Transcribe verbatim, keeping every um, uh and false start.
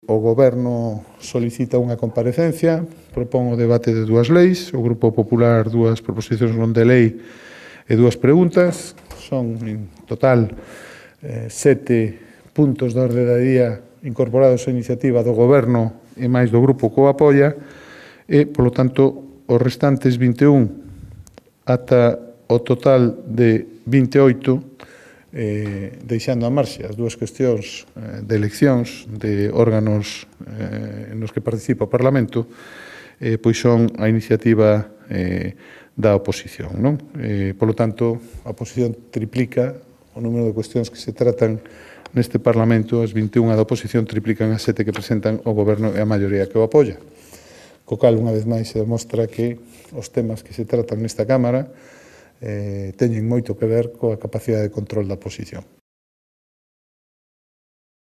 O Goberno solicita unha comparecencia, propón o debate de dúas leis, o Grupo Popular dúas proposicións non de lei e dúas preguntas. Son, en total, eh, sete puntos de orde da día incorporados á iniciativa do Goberno e máis do Grupo que o apoia, e, polo tanto, os restantes vinte e un ata o total de vinte e oito, eh, deixando a marxe as dúas cuestións eh, de eleccións de órganos eh, nos que participa o Parlamento, eh, pois son a iniciativa eh, da oposición. Non? Eh, polo tanto, a oposición triplica o número de cuestións que se tratan neste Parlamento, as vinte e unha da oposición triplican as sete que presentan o Goberno e a maioría que o apoia. Co cal, unha vez máis, se demostra que os temas que se tratan nesta Cámara eh, teñen moito que ver coa capacidade de control da oposición.